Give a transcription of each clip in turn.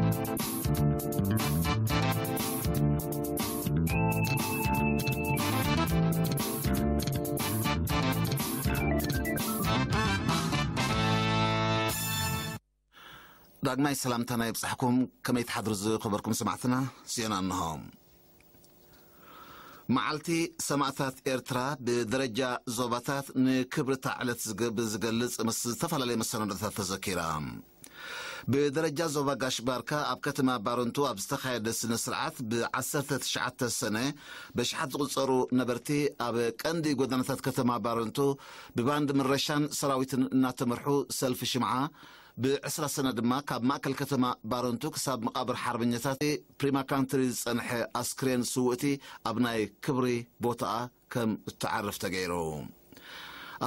ዳግማይ ሰላምታና ይብጻሕኩም። ከመይ ትሓድሩ ዝኸበርኩም ሰማዕትና? ዜና እንሆ። መዓልቲ ሰማእታት ኤርትራ ብደረጃ ዞባታት ንክብሪ እታ ዕለት ዝገ-፣ ብዝገልጽ ምስ ዝተፈላለየ መሰናዶታት ተዘኪራ። ብደረጃ ዞባ ጋሽ ባርካ ኣብ ከተማ ባረንቱ ኣብ ዝተኻየደ ስነ ስርዓት ብ19 ሰነ በሽሓት ዝቑጸሩ ነበርቲ ኣብ ቀንዲ ጎደናታት ከተማ ባረንቱ ብባንድ ምረሻን ሰራዊትን እናተመርሑ ሰልፊ ሽምዓ፣ ብ20 ሰነ ድማ ካብ ማእከል ከተማ ባረንቱ ክሳብ መቓብር ሓርበኛታት ፕሪማ ካንትሪ ዝጸንሐ ኣስክሬን ስውእቲ ኣብ ናይ ክብሪ ቦታኣ ከም እትዓርፍ ተገይሩ።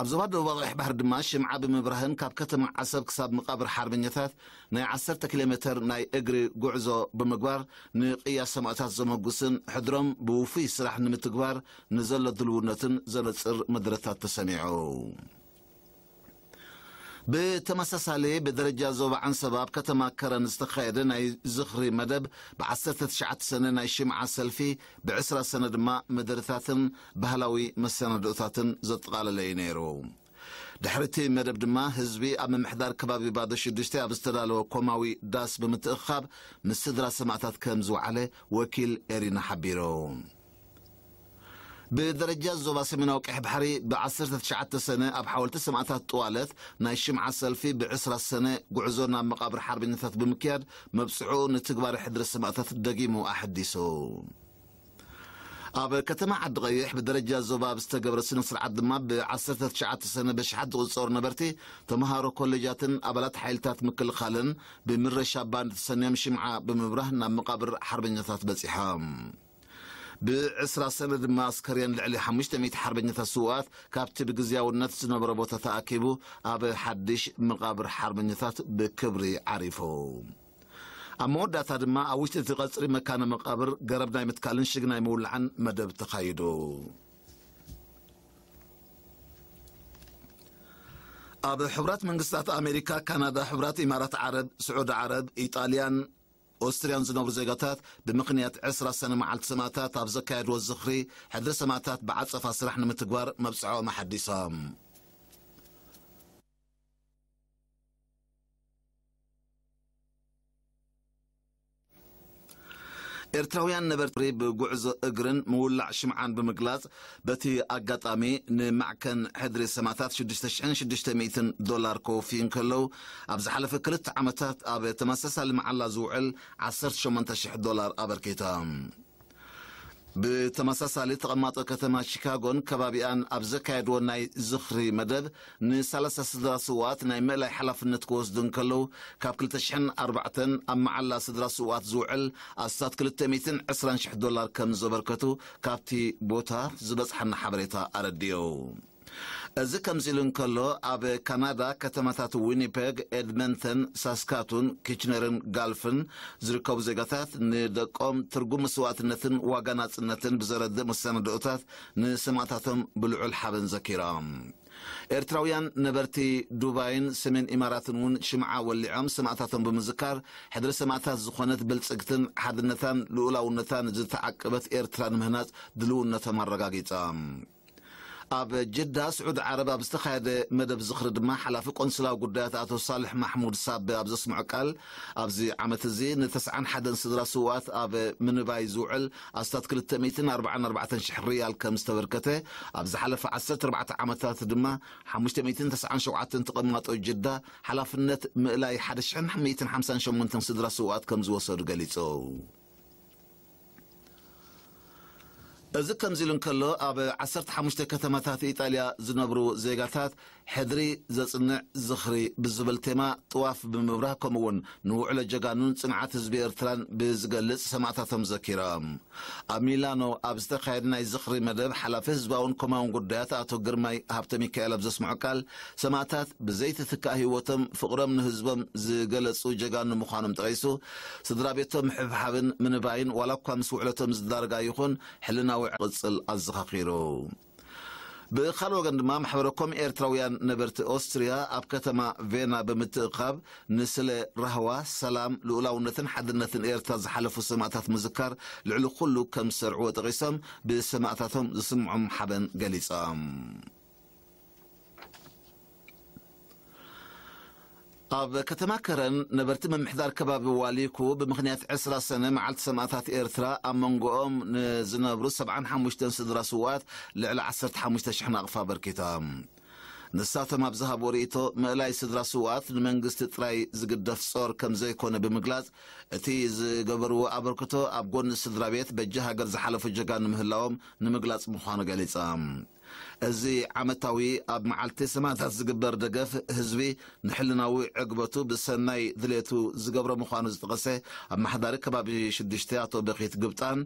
ኣብ ዞባ ደቡባዊ ቀይሕ ባሕሪ ድማ ሽምዓ ብምብራህን ካብ ከተማ ዓሰብ ክሳብ መቓብር ሓርበኛታት ናይ 10 ኪሎ ሜተር ናይ እግሪ ጉዕዞ ብምግባር ንቅያ ሰማእታት ዘመጉስን ሕድሮም ብውፉይ ስራሕ ንምትግባር ንዘሎ ድልውነትን ዘነጽር መድረታት ተሰሚዑ። ብተመሳሳሊ ብደረጃ ዞባ ዓንሰባ ኣብ ከተማ ከረን ዝተኻየደ ናይ ዝኽሪ መደብ ብ19 ሰነ ናይ ሽምዓ ሰልፊ፣ ብ20 ሰነ ድማ መደርታትን ባህላዊ መሰናድኦታትን ዘጠቓለለ እዩ ነይሩ። ድሕሪ እቲ መደብ ድማ ህዝቢ ኣብ ምምሕዳር ከባቢ ባዶ ሽዱሽተ ኣብ ዝተዳለወ ኮማዊ ዳስ ብምትእኻብ ምስ ስድራ ሰማእታት ከም ዝወዓለ ወኪል ኤሪና ሓቢሩ። ብደረጃ ዞባ ሰሜናዊ ቀይሕ ባሕሪ ብ19 ሰነ ኣብ ሓወልቲ ሰማእታት ጥዋለት ናይ ሽምዓ ሰልፊ ብ20 ሰነ ጉዕዞ ናብ መቓብር ሓርበኛታት ብምክያድ መብጽዑ ንትግባረ ሕድሪ ሰማእታት ደጊሙ ኣሐዲሱ። ኣብ ከተማ ዓዲ ቀይሕ ብደረጃ ዞባ ኣብ ዝተገብረ ስነ ስርዓት ድማ ብ19 ሰነ በሽሓት ዝቑጸሩ ነበርቲ ተምሃሮ ኮሌጃትን ኣባላት ሓይልታት ምክልኻልን ብምረሻ ባንድ ተሰንዮም ሽምዓ ብምብራህ ናብ መቓብር ሓርበኛታት በጺሖም። ብ20 ሰነ ድማ ኣስከሬን ልዕሊ 500 ሓርበኛታት ስውኣት ካብቲ ብግዝያውነት ዝነበረ ቦታ ተኣኪቡ ኣብ ሓድሽ መቓብር ሓርበኛታት ብክብሪ ዓሪፉ። ኣብ መወዳእታ ድማ ኣብ ውሽጢ እቲ ቀጽሪ መካነ መቓብር ገረብ ናይ ምትካልን ሽግ ናይ ምውላዕን መደብ ተኻይዱ። ኣብ ሕቡራት መንግስታት ኣሜሪካ፣ ካናዳ፣ ሕቡራት ኢማራት ዓረብ፣ ስዑዲ ዓረብ፣ ኢጣልያን ኦስትርያን ዝነብሩ ዜጋታት ብምኽንያት ዕስራ ሰነ መዓልቲ ሰማእታት ኣብ ዘካየድዎ ዝኽሪ ሕድሪ ሰማእታት ብዓጸፋ ስራሕ ንምትግባር መብጽዖም ኣሓዲሶም። ኤርትራውያን ነበርቲ ብጉዕዞ እግርን ምውላዕ ሽምዓን ብምግላጽ፣ በቲ ኣጋጣሚ ንማዕከን ሕድሪ ሰማእታት ሽዱሽተ ሽሕን ሽዱሽተ ሚእትን ዶላር ከወፍዩ እንከለዉ፣ ኣብ ዝሓለፈ ክልተ ዓመታት ኣብ ተመሳሳሊ መዓላ ዝውዕል ዓሰርተ ሸሞንተ ሽሕ ዶላር ኣበርኪቶም። ብተመሳሳሊ፣ ተቐማጦ ከተማ ሺካጎን ከባቢኣን ኣብ ዘካየድዎ ናይ ዝኽሪ መደብ፣ ንሰላሳ ስድራ ስውኣት ናይ ምእላይ ሓላፍነት ክወስዱ እንከለዉ፣ ካብ ክልተ ሽሕን ኣርባዕተን ኣብ መዓላ ስድራ ስውኣት ዝውዕል ኣስታት ክልተ ሚእትን ዕስራን ሽሕ ዶላር ከም ዘበርከቱ ካብቲ ቦታ ዝበጽሓና ሓበሬታ ኣረዲኡ። እዚ ከምዚ ኢሉ እንከሎ፣ ኣብ ካናዳ ከተማታት ዊኒፔግ፣ ኤድመንተን፣ ሳስካቱን፣ ኪችነርን ጋልፍን ዝርከቡ ዜጋታት ንደቆም ትርጉም መስዋእትነትን ዋጋ ናጽነትን ብዘረድእ መሰናድኦታት ንሰማእታቶም ብልዑል ሓበን ዘኪሮም። ኤርትራውያን ነበርቲ ዱባይን ሰሜን ኢማራትን እውን ሽምዓ ወሊዖም ሰማእታቶም ብምዝካር፣ ሕድሪ ሰማእታት ዝኾነት ብልጽግትን ሓድነታን ልኡላውነታን ዝተዓቀበት ኤርትራ ንምህናጽ ድልውነቶም ኣረጋጊጾም። ኣብ ጅዳ ስዑዲ ዓረብ ኣብ ዝተኻየደ መደብ ዝኽሪ ድማ፣ ሓላፊ ቆንስላዊ ጉዳያት ኣቶ ሳልሕ ማሕሙድ ሳበ ኣብ ዘስምዖ ቃል፣ ኣብዚ ዓመት እዚ ንተስዓን ሓደን ስድራ ስውኣት ኣብ ምንባይ ዝውዕል ኣስታት ክልተ ሚእትን ኣርባዓን ኣርባዕተን ሽሕ ሪያል ከም ዝተበርከተ፣ ኣብ ዝሓለፈ ዓሰርተ ኣርባዕተ ዓመታት ድማ ሓሙሽተ ሚእትን ተስዓን ሸውዓተን ተቐማጦ ጅዳ ሓላፍነት ምእላይ ሓደ ሽሕን ሚእትን ሓምሳን ሸሞንተን ስድራ ስውኣት ከም ዝወሰዱ ገሊጹ። እዚ ከምዚ ኢሉ እንከሎ፣ ኣብ ዓሰርተ ሓሙሽተ ከተማታት ኢጣልያ ዝነብሩ ዜጋታት ሕድሪ ዘጽንዕ ዝኽሪ ብዝብል ቴማ ጥዋፍ ብምብራህ፣ ከምኡ'ውን ንውዕሎ ጀጋኑን ጽንዓት ህዝቢ ኤርትራን ብዝገልጽ ሰማእታቶም ዘኪሮም። ኣብ ሚላኖ ኣብ ዝተኻየደ ናይ ዝኽሪ መደብ፣ ሓላፊ ህዝባውን ኮማውን ጉዳያት ኣቶ ግርማይ ሃብተ ሚካኤል ኣብ ዘስምዖ ቃል፣ ሰማእታት ብዘይትትካእ ህይወቶም ፍቕሮም ንህዝቦም ዝገለጹ ጀጋኑ ምዃኖም ጠቒሱ፣ ስድራ ቤቶም ምሕብሓብን ምንባይን ዋላ እኳ ምስ ውዕለቶም ዝዳረጋ ይኹን፣ ሕልናዊ ቅጽል ኣዘኻኺሩ። ብኻልእ ወገን ድማ ማሕበረ ኮም ኤርትራውያን ነበርቲ ኦስትርያ ኣብ ከተማ ቬና ብምትእኻብ ንስለ ራህዋ፣ ሰላም፣ ልኡላውነትን ሓድነትን ኤርትራ ዝሓለፉ ሰማእታት ምዝካር ልዕሊ ኩሉ ከም ዝሰርዕዎ ጠቒሶም ብሰማእታቶም ዝስምዖም ሓበን ገሊጾም። ኣብ ከተማ ከረን ነበርቲ ምምሕዳር ከባቢ ዋሊኩ ብምኽንያት ዕስራ ሰነ መዓልቲ ሰማእታት ኤርትራ ኣብ መንጎኦም ንዝነብሩ ሰብዓን ሓሙሽተን ስድራ ስውኣት ልዕሊ ዓሰርተ ሓሙሽተ ሽሕ ናቕፋ ኣበርኪቶም። ንሳቶም ኣብ ዝሃብዎ ርእይቶ ምእላይ ስድራ ስውኣት ንመንግስቲ ጥራይ ዝግደፍ ጾር ከም ዘይኮነ ብምግላጽ እቲ ዝገበርዎ ኣበርክቶ ኣብ ጎኒ ስድራ ቤት በጃ ሃገር ዝሓለፉ ጀጋኑ ምህላዎም ንምግላጽ ምዃኑ ገሊጾም። እዚ ዓመታዊ ኣብ መዓልቲ ሰማእታት ዝግበር ደገፍ ህዝቢ ንሕልናዊ ዕግበቱ ብሰናይ ድሌቱ ዝገብሮ ምዃኑ ዝጠቐሰ ኣመሓዳሪ ከባቢ ሽዱሽተ ኣቶ በኺት ግብጣን፣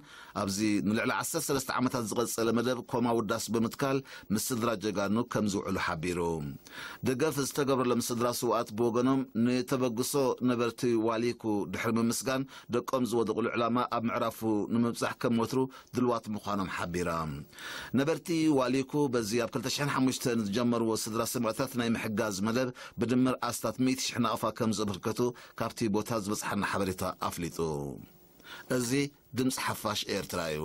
ኣብዚ ንልዕሊ ዓሰርተ ሰለስተ ዓመታት ዝቐጸለ መደብ ኮማ ውዳስ ብምትካል ምስ ስድራ ጀጋኑ ከም ዝውዕሉ ሓቢሩ። ደገፍ ዝተገብረሎም ስድራ ስውኣት ብወገኖም ንተበግሶ ነበርቲ ዋሊኩ ድሕሪ ምምስጋን ደቆም ዝወደቑሉ ዕላማ ኣብ ምዕራፉ ንምብጻሕ ከም ወትሩ ድልዋት ምዃኖም ሓቢራ። ነበርቲ ዋሊኩ በዚ ኣብ ክልተ ሽሕን ሓሙሽተን ዝጀመርዎ ስድራ ሰማእታት ናይ ምሕጋዝ መደብ ብድምር ኣስታት ሚእቲ ሽሕ ናቕፋ ከም ዘበርከቱ ካብቲ ቦታ ዝበጽሓና ሓበሬታ ኣፍሊጡ። እዚ ድምፂ ሓፋሽ ኤርትራ እዩ።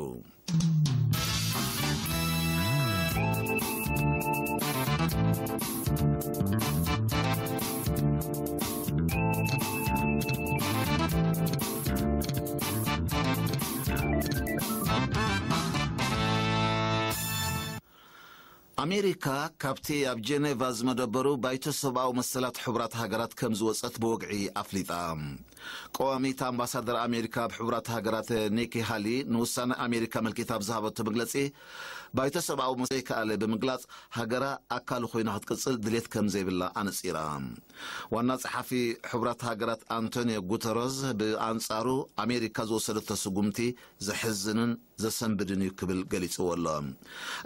ኣሜሪካ ካብቲ ኣብ ጀኔቫ ዝመደበሩ ባይቶ ሰብኣዊ መሰላት ሕቡራት ሃገራት ከም ዝወጸት ብወግዒ ኣፍሊጣ። ቀዋሚት ኣምባሳደር ኣሜሪካ ኣብ ሕቡራት ሃገራት ኒኪ ሃሊ ንውሳነ ኣሜሪካ ኣመልኪታ ኣብ ዝሃበቶ መግለጺ፣ ባይቶ ሰብኣዊ መሰላት ዘይከኣለ ብምግላጽ፣ ሃገራ ኣካሉ ኮይና ክትቅጽል ድሌት ከም ዘይብላ ኣነጺራ። ዋና ጸሓፊ ሕቡራት ሃገራት ኣንቶኒዮ ጉተረዝ ብኣንጻሩ፣ ኣሜሪካ ዝወሰደቶ ስጉምቲ ዘሕዝንን ዘሰንብድን እዩ ክብል ገሊጽዎ ኣሎ።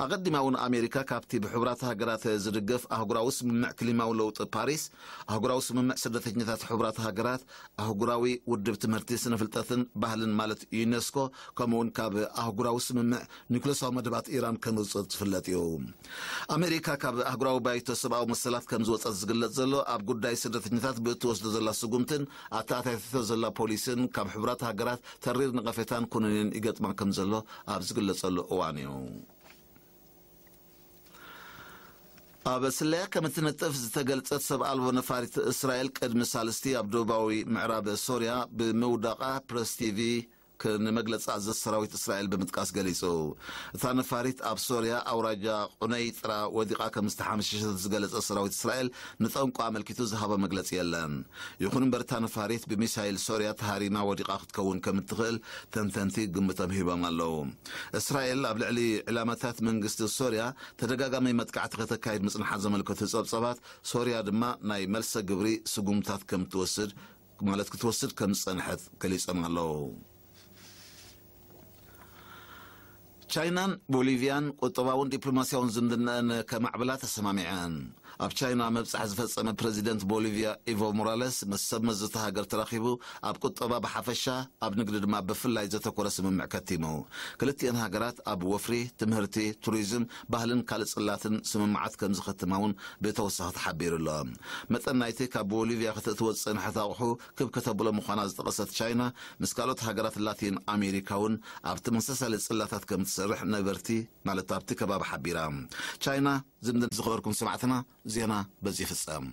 ኣቐዲማ እውን ኣሜሪካ ካብቲ ብሕቡራት ሃገራት ዝድገፍ ኣህጉራዊ ስምምዕ ክሊማዊ ለውጢ ፓሪስ፣ ኣህጉራዊ ስምምዕ ስደተኛታት ሕቡራት ሃገራት፣ ኣህጉራዊ ውድብ ትምህርቲ፣ ስነ ፍልጠትን ባህልን ማለት ዩኔስኮ፣ ከምኡ እውን ካብ ኣህጉራዊ ስምምዕ ኒኩሌሳዊ መደባት ኢራን ከም ዝወጸት ዝፍለጥ እዩ። ኣሜሪካ ካብ ኣህጉራዊ ባይቶ ሰብኣዊ መሰላት ከም ዝወጸት ዝግለጽ ዘሎ፣ ኣብ ጉዳይ ስደተኛታት ብእትወስዶ ዘላ ስጉምትን ኣተኣታቲቶ ዘላ ፖሊስን ካብ ሕቡራት ሃገራት ተሪር ነቐፌታን ኩነኔን ይገጥማ ከም ዘሎ ኣብ ዝግለጸሉ እዋን እዩ። ኣብ ስለያ ከም እትነጥፍ ዝተገልጸት ሰብ ኣልቦ ነፋሪት እስራኤል ቅድሚ ሳልስቲ ኣብ ደቡባዊ ምዕራብ ሶርያ ብምውዳቓ ፕረስ ቲቪ ክ-፣ ንመግለጺ ኣዘዝ ሰራዊት እስራኤል ብምጥቃስ ገሊጹ። እታ ነፋሪት ኣብ ሶርያ ኣውራጃ ቁነይጥራ ወዲቓ ከም ዝተሓምሸሸት ዝገለጸ ሰራዊት እስራኤል ንጠንቁ ኣመልኪቱ ዝሃቦ መግለጺ የለን። ይኹን እምበር እታ ነፋሪት ብሚሳይል ሶርያ ተሃሪማ ወዲቓ ክትከውን ከም እትኽእል ተንተንቲ ግምቶም ሂቦም ኣለዉ። እስራኤል ኣብ ልዕሊ ዕላማታት መንግስቲ ሶርያ ተደጋጋሚ መጥቃዕቲ ከተካይድ ምጽንሓ ዘመልከቱ ጸብጸባት፣ ሶርያ ድማ ናይ መልሰ ግብሪ ስጉምታት ከም ትወስድ፣ ማለት ክትወስድ ከም ዝጸንሐት ገሊጾም ኣለዉ። ቻይናን ቦሊቪያን ቁጠባውን ዲፕሎማስያውን ዝምድናኣን ከማዕብላ ተሰማሚዐን። ኣብ ቻይና ምብጻሕ ዝፈጸመ ፕረዚደንት ቦሊቪያ ኢቮ ሞራለስ ምስ ሰብ መዚ እታ ሃገር ተራኺቡ ኣብ ቁጠባ ብሓፈሻ፣ ኣብ ንግዲ ድማ ብፍላይ ዘተኮረ ስምምዕ ከቲሙ። ክልቲኤን ሃገራት ኣብ ወፍሪ፣ ትምህርቲ፣ ቱሪዝም፣ ባህልን ካልእ ጽላትን ስምምዓት ከም ዝኸትማ እውን ብተወሳኺ ተሓቢሩ ኣሎ። መጠን ናይቲ ካብ ቦሊቪያ ከተእትዎ ዝጸንሐት ኣቑሑ ክብ ከተብሎ ምዃና ዝጠቐሰት ቻይና፣ ምስ ካልኦት ሃገራት ላቲን ኣሜሪካ እውን ኣብ ተመሳሳሊ ጽላታት ከም ትሰርሕ ነበርቲ፣ ማለት ኣብቲ ከባቢ ሓቢራ። ቻይና ዝምድና። ዝኸበርኩም ሰማዕትና፣ ዜና በዚ ይፍጸም።